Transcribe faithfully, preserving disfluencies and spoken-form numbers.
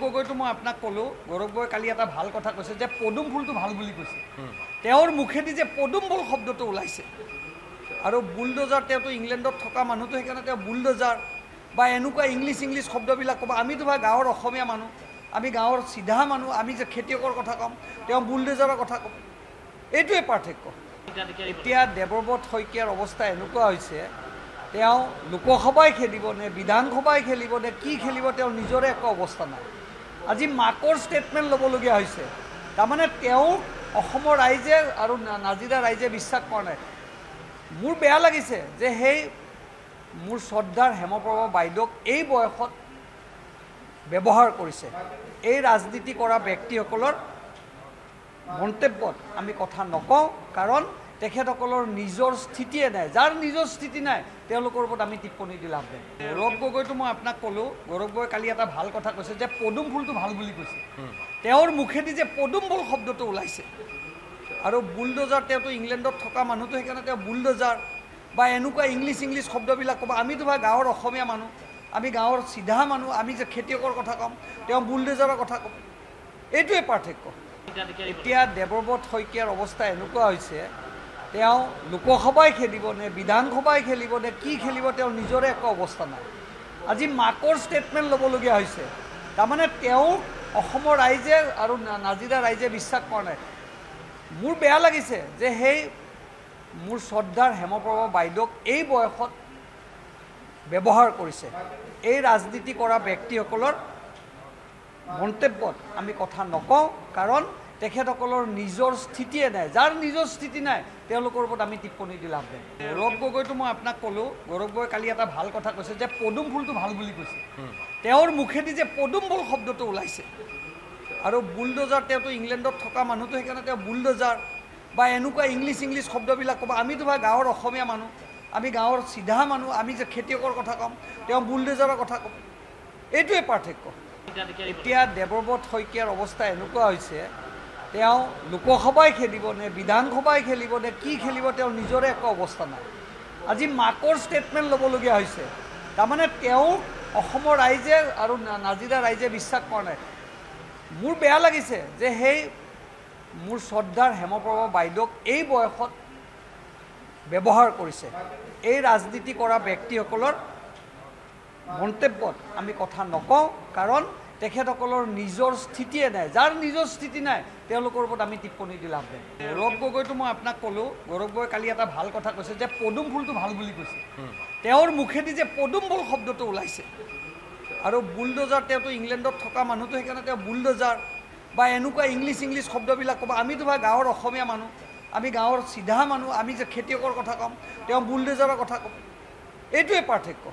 গগৈটো মই আপোনাক ক'লোঁ, গৌৰৱ গগৈ কালি এটা ভাল কথা কৈছে যে পদুম ফুলটো ভাল বুলি কৈছে। তেওঁৰ মুখেদি যে পদুম ফুল শব্দটো ওলাইছে, আৰু বুলডজাৰ, তেওঁতো ইংলেণ্ডত থকা মানুহটো, সেইকাৰণে তেওঁ বুলডজাৰ বা এনেকুৱা ইংলিছ ইংলিছ শব্দবিলাক ক'ব। আমিতো ভাই গাঁৱৰ অসমীয়া মানুহ, আমি গাঁৱৰ চিধা মানুহ, আমি যে খেতিয়কৰ কথা ক'ম, তেওঁ বুলডজাৰৰ কথা ক'ব, এইটোৱে পাৰ্থক্য। এতিয়া দেৱব্ৰত শইকীয়াৰ অৱস্থা এনেকুৱা হৈছে, তেওঁ লোকসভাই খেলিব নে বিধানসভাই খেলিব নে কি খেলিব তেওঁৰ নিজৰে একো অৱস্থা নাই। আজি মাকৰ ষ্টেটমেণ্ট ল'বলগীয়া হৈছে। তাৰমানে তেওঁ অসমৰ ৰাইজে আৰু নাজিৰা ৰাইজে বিশ্বাস কৰা নাই। মোৰ বেয়া লাগিছে যে সেই মোৰ শ্ৰদ্ধাৰ হেমপ্ৰভা বাইদেউক এই বয়সত ব্যৱহাৰ কৰিছে। এই ৰাজনীতি কৰা ব্যক্তিসকলৰ মন্তব্যত আমি কথা নকওঁ, কাৰণ তেখেতসকলৰ নিজৰ স্থিতিয়ে নাই। যাৰ নিজৰ স্থিতি নাই তেওঁলোকৰ ওপৰত আমি টিপ্পনী দি লাভ নাই। গৌৰৱ গগৈটো মই আপোনাক ক'লোঁ, গৌৰৱ গগৈ কালি এটা ভাল কথা কৈছে যে পদুম ফুলটো ভাল বুলি কৈছে। তেওঁৰ মুখেদি যে পদুম ফুল শব্দটো ওলাইছে, আৰু বুলডজাৰ, তেওঁতো ইংলেণ্ডত থকা মানুহটো, সেইকাৰণে তেওঁ বুলডজাৰ বা এনেকুৱা ইংলিছ ইংলিছ শব্দবিলাক ক'ব। আমিতো ভাই গাঁৱৰ অসমীয়া মানুহ, আমি গাঁৱৰ চিধা মানুহ, আমি যে খেতিয়কৰ কথা ক'ম, তেওঁ বুলডজাৰৰ কথা ক'ব, এইটোৱে পাৰ্থক্য। এতিয়া দেৱব্ৰত শইকীয়াৰ অৱস্থা এনেকুৱা হৈছে, তেওঁ লোকসভাই খেলিব নে বিধানসভাই খেলিব নে কি খেলিব তেওঁৰ নিজৰে একো অৱস্থা নাই। আজি মাকৰ ষ্টেটমেণ্ট ল'বলগীয়া হৈছে। তাৰমানে তেওঁ অসমৰ ৰাইজে আৰু নাজিৰা ৰাইজে বিশ্বাস কৰা নাই। মোৰ বেয়া লাগিছে যে সেই মোৰ শ্ৰদ্ধাৰ হেমপ্ৰভা বাইদেউক এই বয়সত ব্যৱহাৰ কৰিছে। এই ৰাজনীতি কৰা ব্যক্তিসকলৰ মন্তব্যত আমি কথা নকওঁ, কাৰণ তেখেতসকলৰ নিজৰ স্থিতিয়ে নাই। যাৰ নিজৰ স্থিতি নাই তেওঁলোকৰ ওপৰত আমি টিপ্পনী দি লাভ নাই। গৌৰৱ গগৈটো মই আপোনাক ক'লোঁ, গৌৰৱ গগৈ কালি এটা ভাল কথা কৈছে যে পদুম ফুলটো ভাল বুলি কৈছে। তেওঁৰ মুখেদি যে পদুম ফুল শব্দটো ওলাইছে, আৰু বুলডজাৰ, তেওঁতো ইংলেণ্ডত থকা মানুহটো, সেইকাৰণে তেওঁ বুলডজাৰ বা এনেকুৱা ইংলিছ ইংলিছ শব্দবিলাক ক'ব। আমিতো ভাই গাঁৱৰ অসমীয়া মানুহ, আমি গাঁৱৰ চিধা মানুহ, আমি যে খেতিয়কৰ কথা ক'ম, তেওঁ বুলডজাৰৰ কথা ক'ব, এইটোৱে পাৰ্থক্য। এতিয়া দেৱব্ৰত শইকীয়াৰ অৱস্থা এনেকুৱা হৈছে, তেওঁ লোকসভাই খেলিব নে বিধানসভাই খেলিব নে কি খেলিব তেওঁৰ নিজৰে একো অৱস্থা নাই। আজি মাকৰ ষ্টেটমেণ্ট ল'বলগীয়া হৈছে। তাৰমানে তেওঁ অসমৰ ৰাইজে আৰু নাজিৰা ৰাইজে বিশ্বাস কৰা নাই। মোৰ বেয়া লাগিছে যে সেই মোৰ শ্ৰদ্ধাৰ হেমপ্ৰভা বাইদেউক এই বয়সত ব্যৱহাৰ কৰিছে। এই ৰাজনীতি কৰা ব্যক্তিসকলৰ মন্তব্যত আমি কথা নকওঁ, কাৰণ তেখেতসকলৰ নিজৰ স্থিতিয়ে নাই। যাৰ নিজৰ স্থিতি নাই তেওঁলোকৰ ওপৰত আমি টিপ্পনী দি লাভ নাই। গৌৰৱ গগৈটো মই আপোনাক ক'লোঁ, গৌৰৱ গগৈ কালি এটা ভাল কথা কৈছে যে পদুম ফুলটো ভাল বুলি কৈছে। তেওঁৰ মুখেদি যে পদুম ফুল শব্দটো ওলাইছে, আৰু বুলডজাৰ, তেওঁতো ইংলেণ্ডত থকা মানুহটো, সেইকাৰণে তেওঁ বুলডজাৰ বা এনেকুৱা ইংলিছ ইংলিছ শব্দবিলাক ক'ব। আমিতো ভাই গাঁৱৰ অসমীয়া মানুহ, আমি গাঁৱৰ চিধা মানুহ, আমি যে খেতিয়কৰ কথা ক'ম, তেওঁ বুলডজাৰৰ কথা ক'ব, এইটোৱে পাৰ্থক্য।